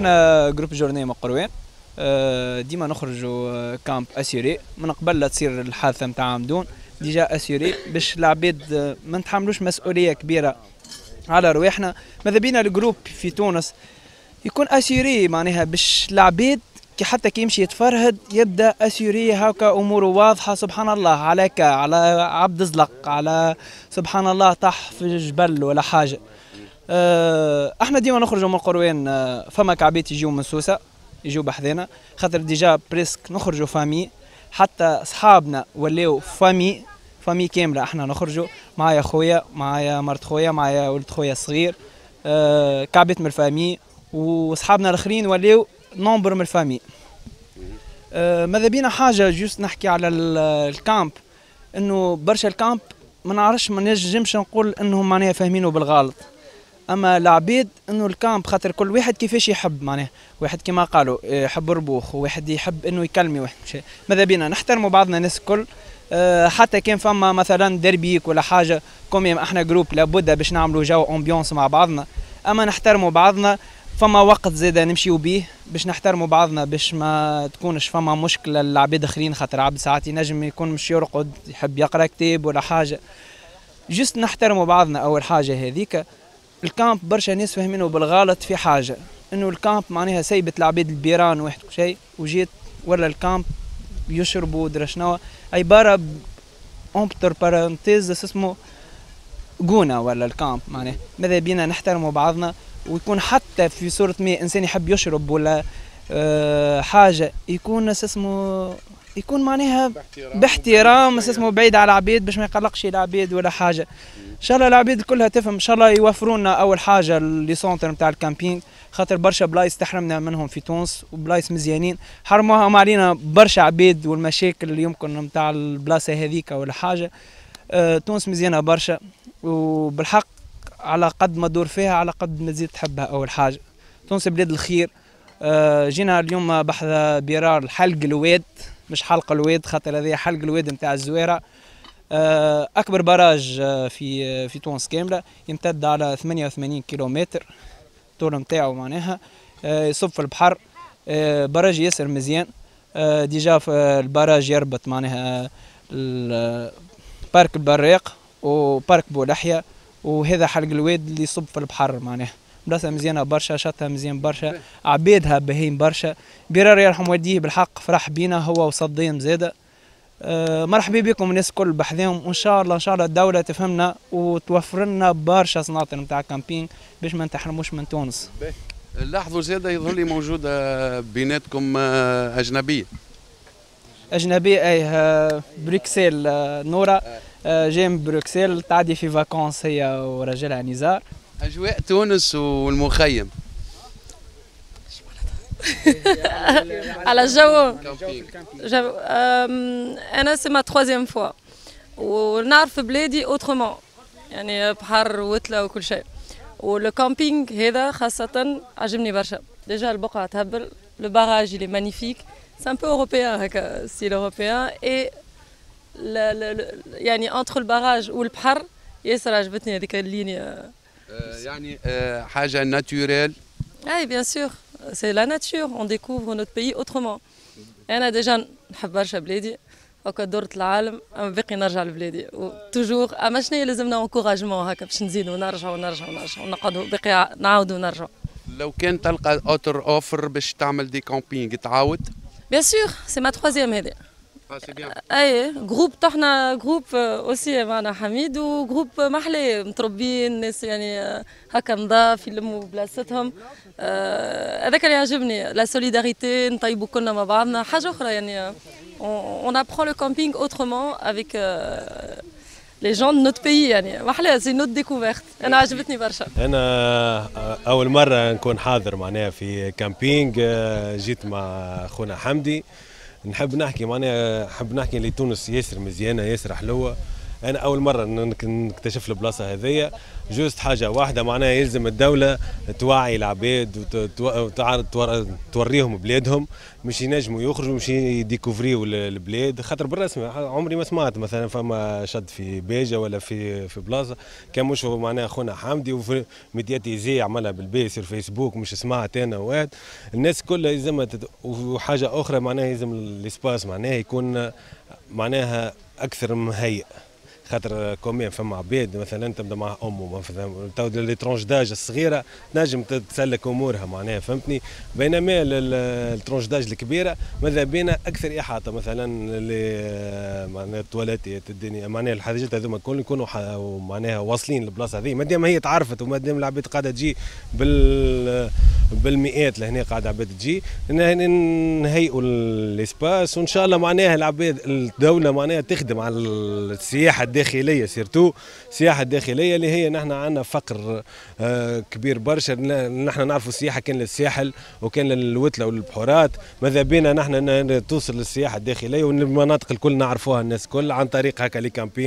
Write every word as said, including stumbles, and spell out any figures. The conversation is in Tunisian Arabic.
احنا groupe journée من قروان، آه، ديما نخرجوا camp assuré من قبل لا تصير الحادثة نتاع عمدون، déjà assuré باش العباد آه، ما نتحملوش مسؤولية كبيرة على رواحنا. ماذا بينا ال groupe في تونس يكون assuré، معناها باش العباد كي حتى كي يمشي يتفرهد يبدا assuré، هكا اموره واضحه. سبحان الله على كا على عبد زلق، على سبحان الله طاح في جبل ولا حاجه. أه احنا ديما نخرجوا من قروان، أه فما كعبات يجيو من سوسة يجيو بحذانا، خاطر déjà presque نخرجوا famille، حتى اصحابنا ولاو famille، famille كامله. احنا نخرجوا معايا خويا، معايا مرت خويا، معايا ولد خويا الصغير، أه كعبات من ال famille، واصحابنا الاخرين ولاو nombre من ال famille. أه ماذا بينا حاجة juste نحكي على ال camp، انه برشا ال camp ما نعرفش، ما نجمش نقول انهم معناها فاهمينه بالغلط، اما العبيد انه ال camp خاطر كل واحد كيفاش يحب، معناها واحد كما قالوا يحب ربوخ، وواحد يحب انه يكلمي واحد. ماذا بينا نحترموا بعضنا الناس الكل، أه حتى كان فما مثلا دربيك ولا حاجه، quand même احنا groupe لابد باش نعملوا جو ambiance مع بعضنا، اما نحترموا بعضنا. فما وقت زاده نمشيو بيه باش نحترموا بعضنا، باش ما تكونش فما مشكلة للعباد اخرين، خاطر عبد ساعات ينجم يكون مش يرقد، يحب يقرا كتاب ولا حاجه. juste نحترموا بعضنا اول حاجة هذيك. ال camp برشا ناس فاهمينه بالغلط في حاجه، انه ال camp معناها سيبت العباد البيران واحد شيء وجيت ولا ال camp يشربوا درا شنو، عبارة entre parenthèses اسمه جونا ولا ال camp. معناها ماذا بينا نحترموا بعضنا، ويكون حتى في صورة ما انسان يحب يشرب ولا أه حاجة يكون اسمه يكون معناها باحترام، اسمه بعيد على العبيد باش ما يقلقش العبيد ولا حاجه. ان شاء الله العبيد كلها تفهم، ان شاء الله يوفروا لنا اول حاجة les centres نتاع ال camping، خاطر برشا بلايص تحرمنا منهم في تونس، وبلايص مزيانين حرموها علينا برشا عبيد والمشاكل اللي يمكن نتاع البلاصة هذيك ولا حاجه. أه تونس مزيانه برشا، وبالحق على قد ما تدور فيها على قد ما تزيد تحبها. اول حاجة تونس بلاد الخير. أه جينا اليوم بحذا بيرار حلق الواد، مش حلق الواد خاطر هذه حلق الواد نتاع الزويره. أه اكبر barrage في في تونس كاملة، يمتد على ثمانية وثمانين كيلومتر الطول نتاعو، معناها أه يصب في البحر. أه barrage ياسر مزيان. أه déjà في ال barrage يربط معناها parc البراق و parc بولحية، وهذا حلق الواد اللي يصب في البحر. معناها بلاصة مزيانه برشا، شطها مزيان برشا، عبيدها باهين برشا. بيرار يرحم والديه بالحق فرح بينا هو وصديم زاده. أه مرحبا بكم الناس الكل بحذاهم، وان شاء الله ان شاء الله الدولة تفهمنا وتوفر لنا برشا سناطر نتاع camping باش ما نتحرموش من تونس. لاحظوا زاده يظهر لي موجودة بيناتكم اجنبية. اجنبية اي، بروكسل، نوره جاي من بروكسل تعدي في vacances هي وراجلها نزار. اجواء تونس والمخيم على الجو جو انا c'est ma troisième fois ونعرف بلادي autrement، يعني بحر وتله وكل شيء، وال camping هذا خاصة عجبني برشا. déjà البقعة تهبل، le barrage il est magnifique، c'est un peu européen هكا style européen، et يعني entre ال barrage والبحر ياسر عجبتني هذيك ال ligne. يعني حاجة naturelle. اي bien sûr، c'est la nature، on découvre notre pays autrement. انا déjà نحب برشا بلادي، هكا درت العالم اما باقي نرجع لبلادي toujours. اما شنو لازمنا encouragement هكا باش نزيدوا ونرجعوا ونرجعوا ونرجعوا ونقعدوا باقي نعاودوا ونرجعوا. لو كان تلقى autre offre باش تعمل des campings تعاود؟ bien sûr، c'est ma troisième هذه. c'est bien. اي groupe طحنا groupe aussi معنا حميد و groupe محلي متربيين ناس يعني هكا نظاف يلموا بلاصتهم. هذاك اللي يعجبني، la solidarité، نطيبوا كلنا مع بعضنا. حاجة اخرى يعني on apprend le camping autrement avec les gens de notre pays، يعني محلاه، c'est une autre découverte، انا عجبتني برشا. انا اول مرة نكون حاضر معناها في camping، جيت مع خونا حمدي. نحب نحكي معناها نحب نحكي اللي تونس ياسر مزيانه ياسر حلوة. انا اول مرة نكتشف البلاصة هذيا. juste حاجة واحدة معناها يلزم الدولة توعي العباد وتوريهم بلادهم مش ينجموا يخرجوا مش ي découvri و البلاد، خاطر بالرسمي عمري ما سمعت مثلا فما شد في باجه ولا في في بلاصة كان مش معناها خونا حمدي وفي médiatisé عملها بالبيس في الفيسبوك مش سمعت انا واحد. الناس كلها يلزمها تت... وحاجه اخرى معناها يلزم l'espace معناها يكون معناها اكثر مهيئ، خاطر quand même فما عباد مثلا تبدا مع امه مثلا تو les tranches d'âge الصغيرة تنجم تسلك امورها معناها فهمتني، بينما ال tranche d'âge الكبيرة ماذا بينا اكثر احاطة مثلا اللي معناها التواليتات الدنيا معناها الحاجات هذوما الكل يكونوا معناها واصلين للبلاصه هذه، مادام هي تعرفت ومادام العباد قاعدة تجي بال بالمئات لهنا قاعدة عباد تجي نهيئوا l'espace، وان شاء الله معناها العباد الدولة معناها تخدم على السياحة الداخلية، surtout السياحة الداخلية اللي هي نحن عندنا فقر كبير برشا. نحن نعرفوا السياحة كان للساحل وكان للوتله والبحورات، ماذا بينا نحن توصل للسياحة الداخلية والمناطق الكل نعرفوها الناس الكل عن طريق هكا les campings.